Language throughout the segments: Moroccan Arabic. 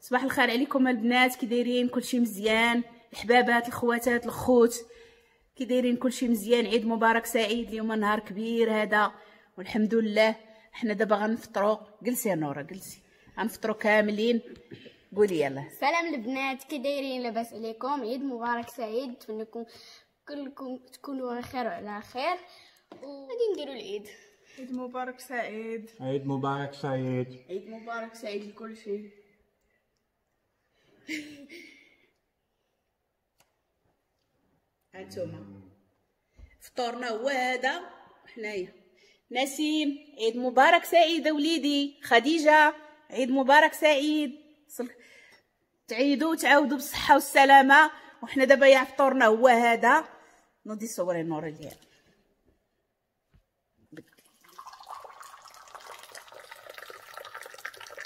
صباح الخير عليكم البنات، كي دايرين؟ كلشي مزيان؟ الحبابات، الخواتات، الخوت، كي دايرين؟ كلشي مزيان؟ عيد مبارك سعيد. اليوم نهار كبير هذا والحمد لله. حنا دابا غنفطروا. جلسي يا نوره جلسي، غنفطروا كاملين. قولي يلا. سلام البنات، كي دايرين؟ لاباس عليكم؟ عيد مبارك سعيد، نتمنى لكم كلكم تكونوا بخير وعلى خير، وغادي نديروا العيد. عيد مبارك سعيد. عيد مبارك سعيد. عيد مبارك سعيد لكل شيء. هانتوما فطورنا هو هذا. حنايا نسيم عيد مبارك سعيد وليدي. خديجة عيد مبارك سعيد. تعيدوا وتعاودوا بالصحة والسلامة. وحنا دابا يا فطورنا هو هذا. نوضي صوري نور الليل.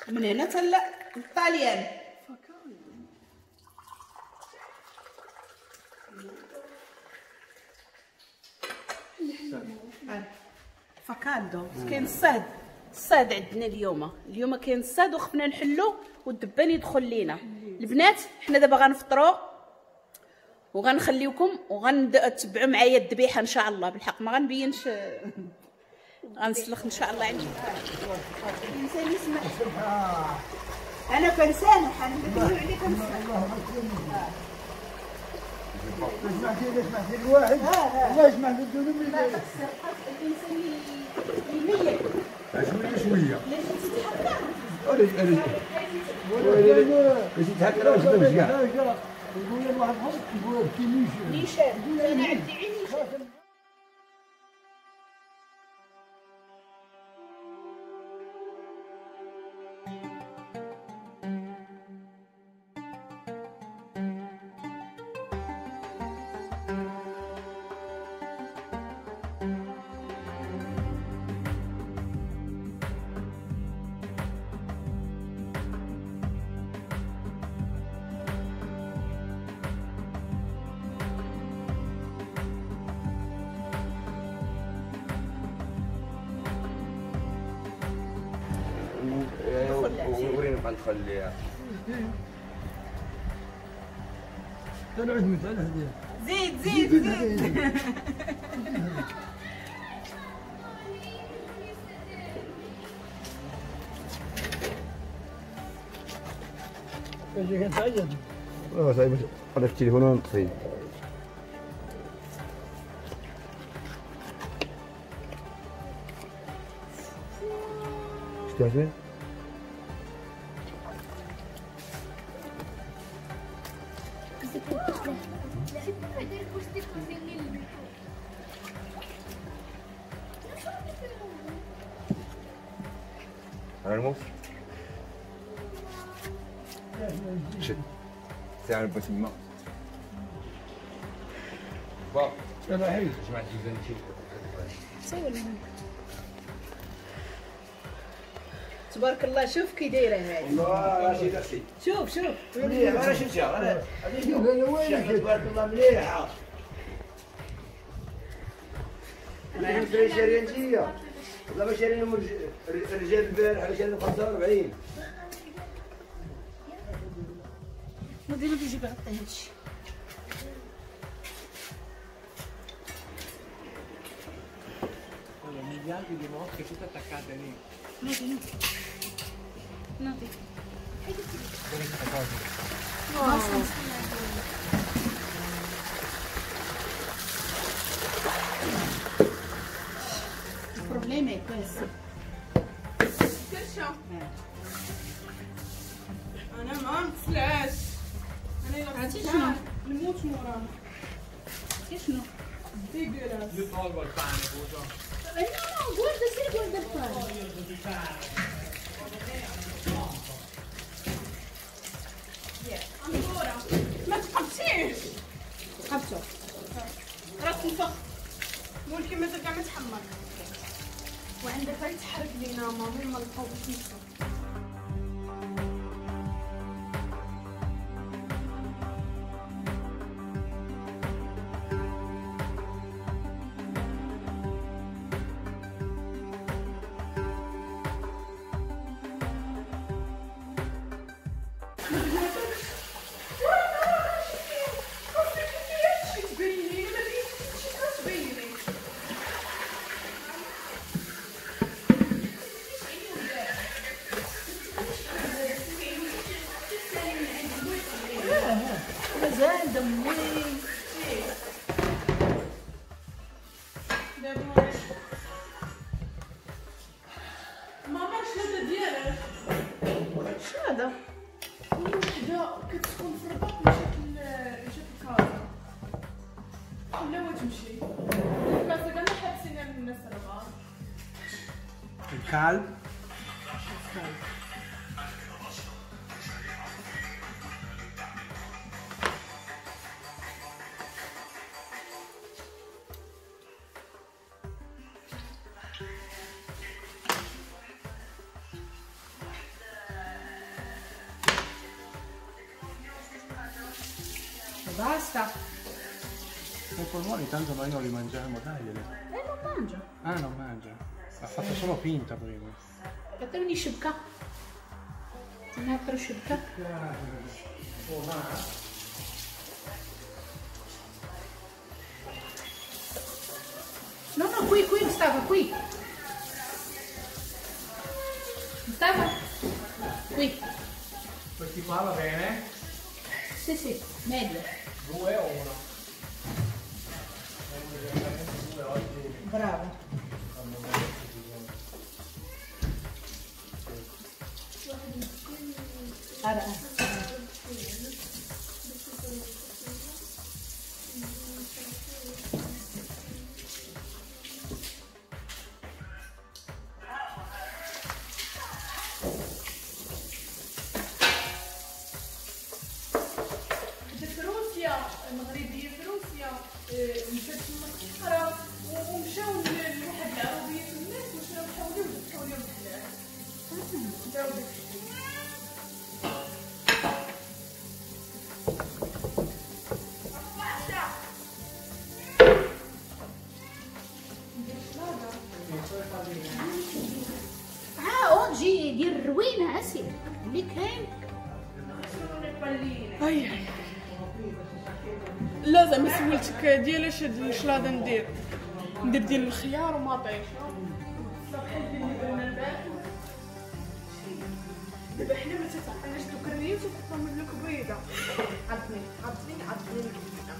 من هنا تلا الطاليان. fa caldo كاين الصهد، الصهد عندنا اليوم. اليوم كاين الصهد وخفنا نحلو والدبان يدخل لينا. البنات حنا دابا غنفطروا وغنخليوكم وغنتبعوا معايا الذبيحة ان شاء الله. بالحق ما غنبينش، غنسلخ ان شاء الله. عندي الانسان يسمح، انا كنسامح، انا كنقول عليك كنسامح. سمعتي سمعتي الواحد الله يسمح للذنوب. الانسان يميل شوية شوية. لا جيتي تحكر، لا جيتي تحكر واش كاع نقول واحد نقول نيشان. انا عندي عيني. وريني بقى ندخل ليها. زيد زيد زيد. صايب انا في التليفون ونطفي. شتي الموس شد ساعة بسمة با جماعة تبارك الله. شوف كي دايرة هذه. والله رشيد اختي، شوف شوف مليحة. انا شفتها، انا شوف تبارك الله مليحة. انا شاريه انتيا والله ما شارينهم الرجال البارح، شارينهم 45. نوضي نوضي جيبي غطي هادشي. نوضي نوضي نوضي. Il problema è questo. كرشة. أنا ما نتسلاش. أنا إلا عرفتي شنو؟ نموت موراها. عرفتي شنو؟ dégueulasse. Io tolgo il pane, scusa. No, no, guarda, sì, guarda il pane. Ancora. ما تقبتيش. قبتو. راك تنفخ. ممكن مازال كاع ما تحمر. وعندك غير تحرك لينا مامي ما لقاو باش نمشيو. مازال دمي. دابا ماما شنو ديالك؟ شنو هذا؟ وحده كتسكن في الرباط مشات لكازا، خلاوها تمشي كازا، كاع حابسينها من الناس الرباط. الكلب Basta. I polmoni tanto noi non li mangiamo, tagliali. Non mangio. Ah, non mangia. Ha fatto solo finta prima. عطيوني شبكة. Un'altra شبكة. No, no, qui, qui, Mustafa, qui. Mustafa, qui. Questi qua va bene? Sì, sì, meglio. 2 o 1? Bravo. Allora. المغربية في روسيا مشات تما تقرا ومشاو لواحد العربية تماك وشراو حولي وذبحوا لهم الحلال. داروا داكشي. Oggi دير الروينه اسير اللي كاين. اي لا زعما سولتك ديالاش هاد الشلاضه ندير ديال الخيار ومطيشه بحال ديال اللي درنا البارح. دابا حنا ما تتعطيناش دوك الريوس وتحطهم لك بيضة. عطني عطني عطني الكبيده.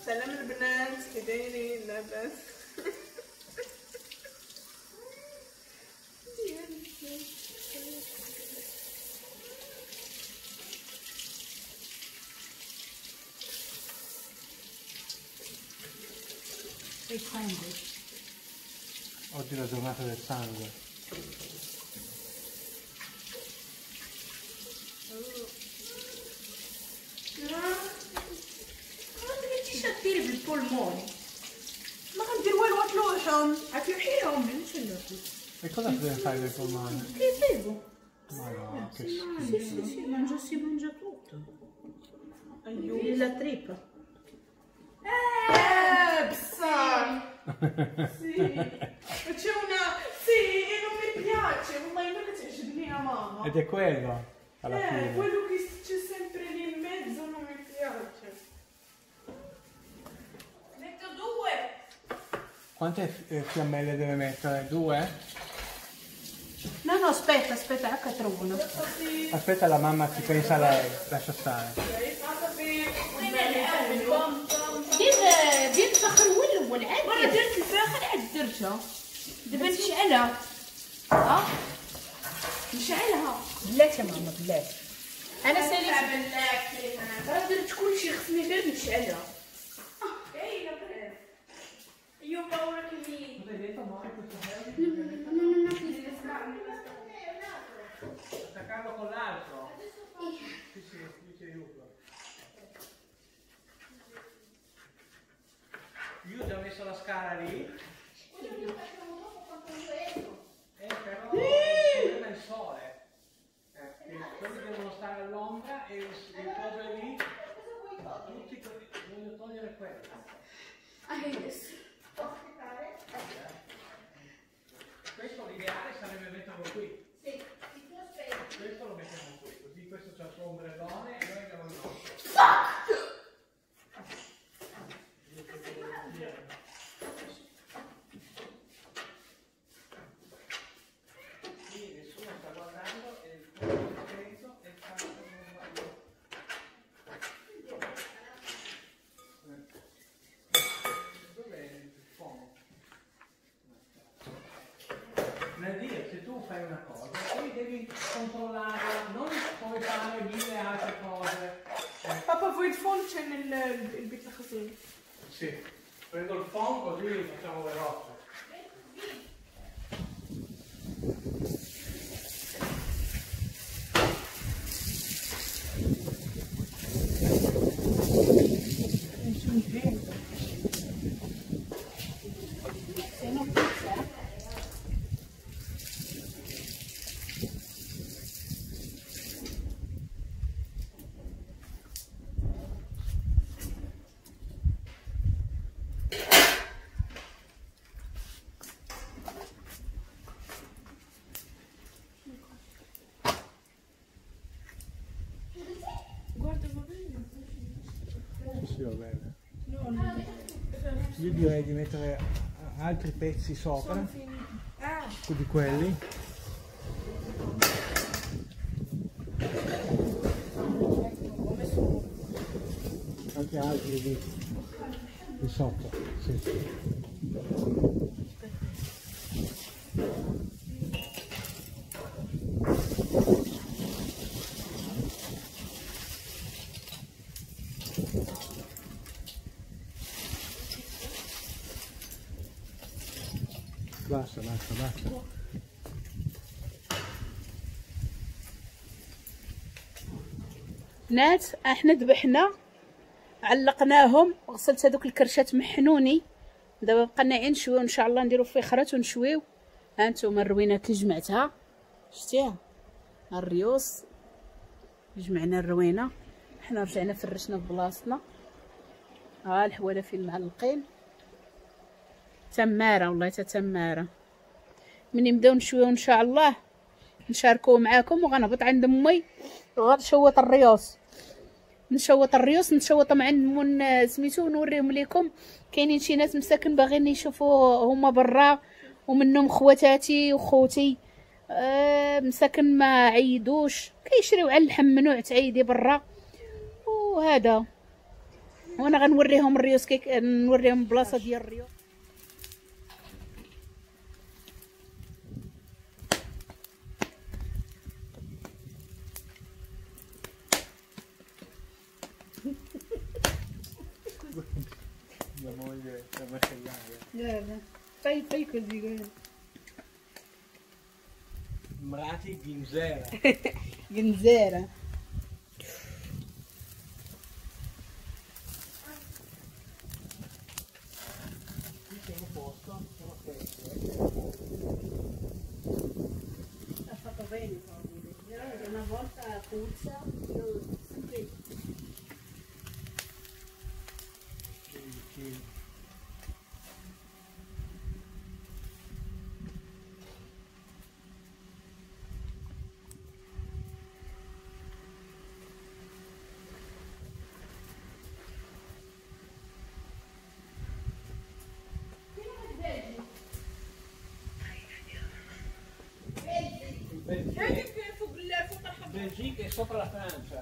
سلام البنات، كي دايرين؟ لاباس؟ Oggi è la giornata del sangue. ما بغيتيش ديري بال polmoni؟ ما غندير والو، غتلوحهم غتلوحيهم. علاش نلوحهم؟ E cosa deve fare del polmone? Che bevo? Ma no, che schifo. Sì, sì, sì, mangio, si mangia tutto. Aiuto. La trippa. بصح sì c'è una sì e non mi piace, والله ما كتعجبني يا ماما. Ed è quello alla fine. Quello che c'è sempre lì in mezzo non mi piace. Metto due. Quante fiammelle deve mettere? Due? No, no, aspetta, aspetta, H1. Aspetta, la mamma ci pensa lei, lascia stare. دير الفخر هو الاول عاد. وانا درت الفاخر عاد درتها. دابا نشعلها. ها نشعلها بلاتي ماما بلاتي. انا ساليت راه درت كلشي، خصني غير نشعلها. باينة Io paura che mi... Attaccarlo con l'altro. Sì, sì, io ti aiuto. Io ho già messo la scala lì. Però il problema è il sole. Che quelli devono stare all'ombra e il coso è lì. Tutti quelli, voglio togliere quello. Questo l'ideale sarebbe metterlo qui. Sì, questo lo mettiamo qui, così questo c'ha il suo ombrellone e noi abbiamo il nostro. Sì, nessuno sta guardando e il fuoco è spento e il cazzo non va. c'è nel il bit così. Sì. Prendo il phon così li facciamo veloce. Sì, va bene. Io direi di mettere altri pezzi sopra di quelli. Anche altri di sotto. Sì. Basta, basta, basta. بنات احنا ذبحنا علقناهم، غسلت هذوك الكرشات محنوني. دابا بقى لنا غير نشويو ان شاء الله، نديرو فخرات ونشويو. ها انتم الروينه كي جمعتها، شتيها الريوس، جمعنا الروينه. حنا رجعنا فرشنا في بلاصتنا. ها الحواله فين معلقين، تماره والله تا تماره. ملي نبداو نشويو ان شاء الله نشاركو معاكم. وغنهبط عند امي وغنشوط الريوس، نشوط الريوس، نشوط مع من سميتو ونوريهم لكم. كاينين شي ناس مساكن باغيين يشوفوا هما برا، ومنهم خواتاتي وخوتي مساكن ما عيدوش، كيشريو على اللحم ممنوع تعيدي برا وهذا. وانا غنوريهم الريوس، كي نوريهم البلاصة ديال الريوس. Mia moglie è macellaia. Guarda, fai così, guarda. Mrati Ginzera. Ginzera. Qui c'è un posto, sono questo. Ha fatto bene, una volta puzza, io sempre. Belgica è sopra la Francia.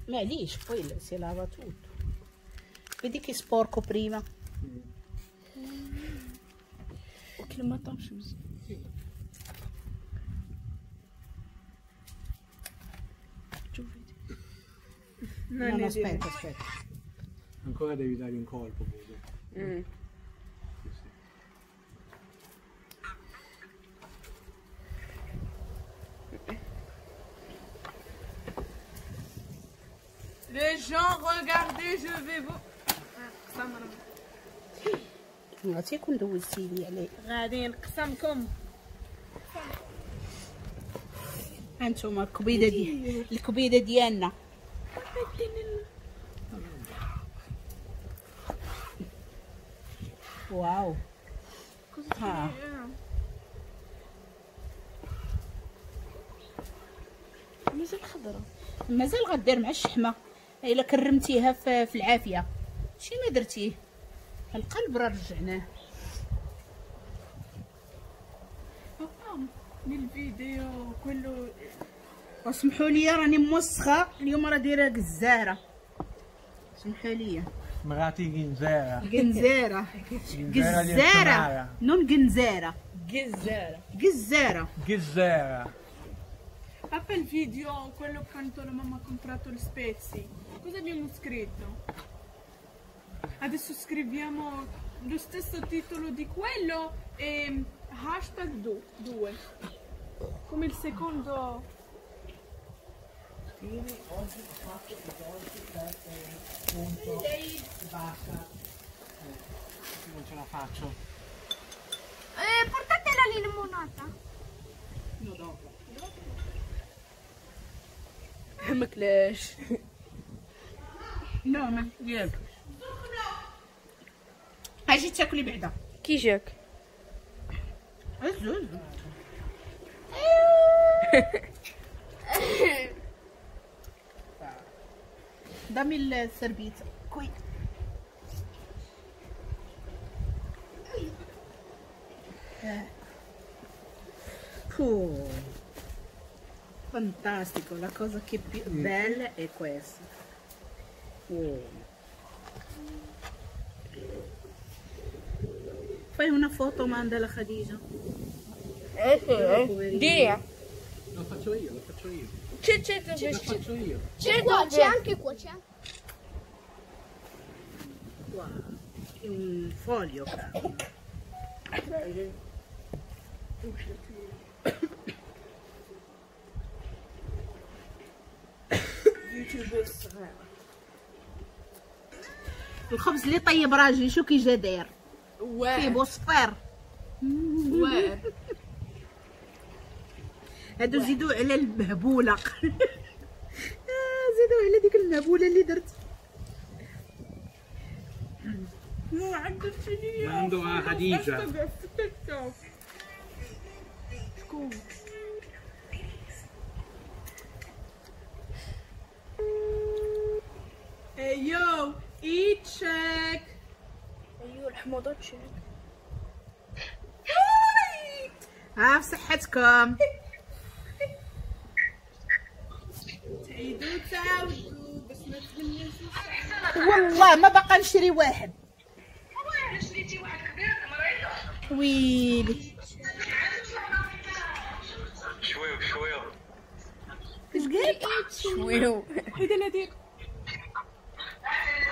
معليش poi si lava tutto. Vedi che sporco prima. وكل ما طابش مزيان. No, no, aspetta, aspetta. Ancora devi dargli un colpo, vedo. Sì, sì. Les gens, regardez, je vais vous... نعطيكم دوزتي لي عليه. غادي نقسمكم. هانتوما الكبيده دي الكبيده ديالنا. واو. ها. مازال خضرة. مازال غدير مع الشحمه. الا كرمتيها في العافية شي ما درتيه. القلب راه رجعناه. nel video quello. وسمحوا لي راني موسخه اليوم، راه دايرة جزاره، سمحوا لي. مراتي جنزاره. جنزاره جزاره non جنزاره، جزاره جزاره جزاره. Papà, il video, quello quando la mamma ha comprato le spezie, cosa abbiamo scritto? Adesso scriviamo lo stesso titolo di quello e hashtag 2, come il secondo. Oggi ho fatto i dolci per punto e basta. Non ce la faccio. Portate la limonata. No, dopo. ما كلاش. لا ما ديالك. اجي تاكلي بعدا. كي جاك؟ عزوز. Dammi il servizio qui. Fantastico, la cosa che più bella è questa. Oh. Fai una foto, mandala Khadija. Dia. Lo faccio io, lo faccio io. C'è, lo faccio io. C'è qua, c'è anche qua, c'è. Wow, è un foglio. الخبز اللي طيب راجل شو كي جا داير؟ فيه بوصفير. واعر. هادو زيدوا على المهبوله. زيدوا على ديك المهبوله اللي درت. Mando a Khadija. شكون؟ ايو ايتشيك. ايو الحموضة تشيك. ها بصحتكم. تعيدوا تعاودوا باش ما تهنيوش. والله ما باقا نشري واحد. والله شريتي واحد كبير مريضه. ويلي شوية شوية. اش قال؟ شوية حيد انا دير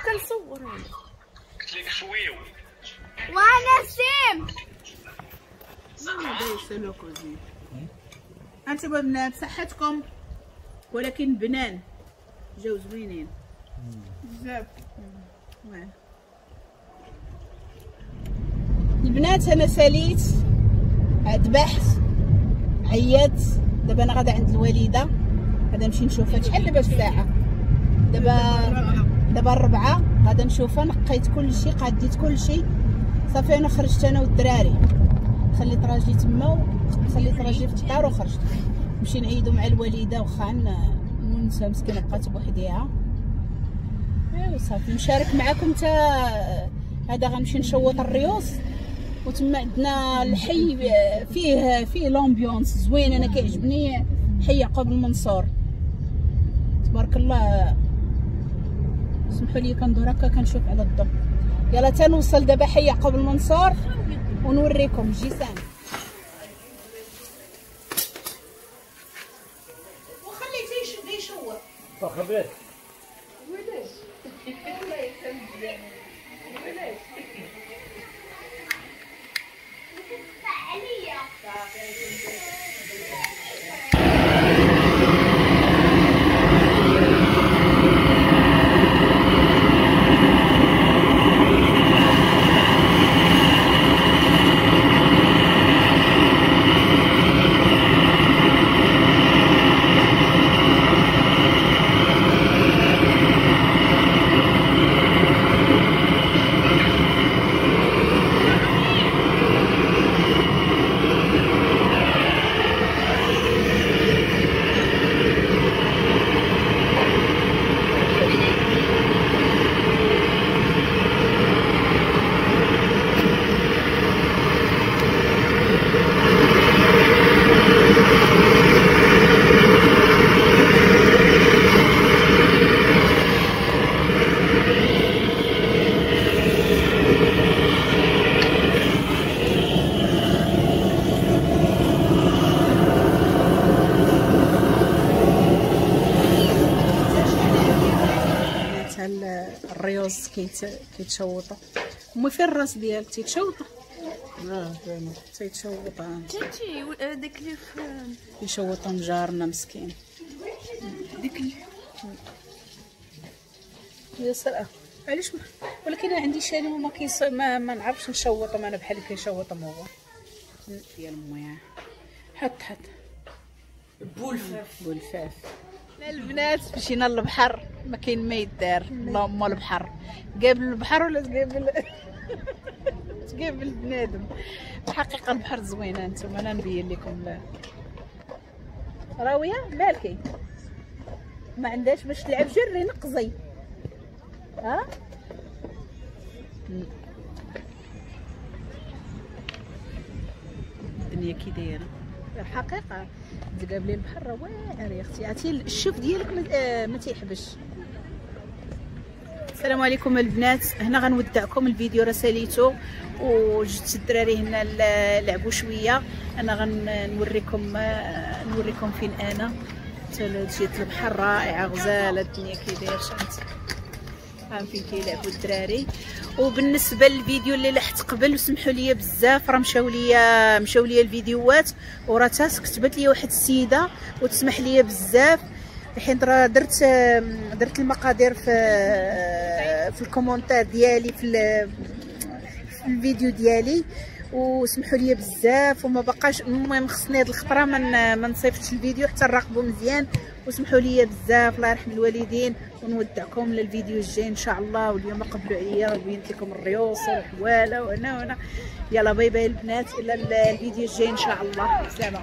كنصور. قلت لك شوية. وانا سيم. انتما بنات بصحتكم، ولكن بنان جاو زوينين بزاف. البنات انا ساليت ذبحت عيات. دابا انا غادا عند الوالدة، غادا نمشي نشوفها. شحال دابا الساعة؟ دابا 4. غادا نشوفها. نقيت كلشي، قاديت كلشي صافي. انا خرجت انا والدراري، خليت راجلي تما وخليت راجلي في الدار وخرجت نمشي نعيدو مع الوالدة. واخا ونسى مسكينه بقات بوحديها. ايوا صافي نشارك معكم حتى هذا. غنمشي نشوط الريوس وتما عندنا الحي فيه l'ambiance زوين. انا كيعجبني حي يعقوب المنصور تبارك الله. سمحوا لي كندور هكا كنشوف على الضوء. يلا تنوصل دابا حي يعقوب المنصور ونوريكم جيسان. وخليته يشوط. خبرت ولاش والله يسلمك ولاش عليا. الرز كيتشوطوا. امي فين الراس ديالك تيتشوط؟ تيتشوط. كنتي داك اللي يشوط جارنا مسكين. ديك يا سلام. علاش ولكن انا عندي شالي وما كيص ما نعرفش نشوطهم انا بحال اللي كيشوطهم هو. ديال امي حط حط بولفاف بولفاف. لا البنات مشينا للبحر ما كاين ما يدار، اللهم البحر قابل البحر ولا تقابل تقابل بنادم. الحقيقة البحر زوينة. انتم انا نبين لكم. راويه مالكي ما عندهاش باش تلعب، جري نقزي. ها الدنيا كي دايرة الحقيقة. تقابلي البحر راه واعر يا اختي، عرفتي الشوف ديالك ما تيحبش. السلام عليكم البنات، هنا غنودعكم. الفيديو راه ساليتو وجبت الدراري هنا لعبوا شوية. انا غنوريكم نوريكم فين انا. جيت البحر رائعة غزاله الدنيا كي داير، شانت فين كيلعبوا الدراري. وبالنسبة للفيديو اللي لحت قبل وسمحوا لي بزاف، راه مشاو لي الفيديوهات وراه كتبت لي واحد السيدة وتسمح لي بزاف، حيت راه درت المقادير في ال commentaire ديالي في الفيديو ديالي، وسمحوا لي بزاف. وما بقاش المهم خصني هاد الخطرة ما نصيفطش الفيديو حتى نراقبو مزيان، وسمحوا لي بزاف الله يرحم الوالدين. ونودعكم للفيديو الجاي ان شاء الله. واليوم قبلوا عليا وبينت لكم الريوس والحواله وهنا وهنا. يلا bye bye البنات، الى الفيديو الجاي ان شاء الله. سلام.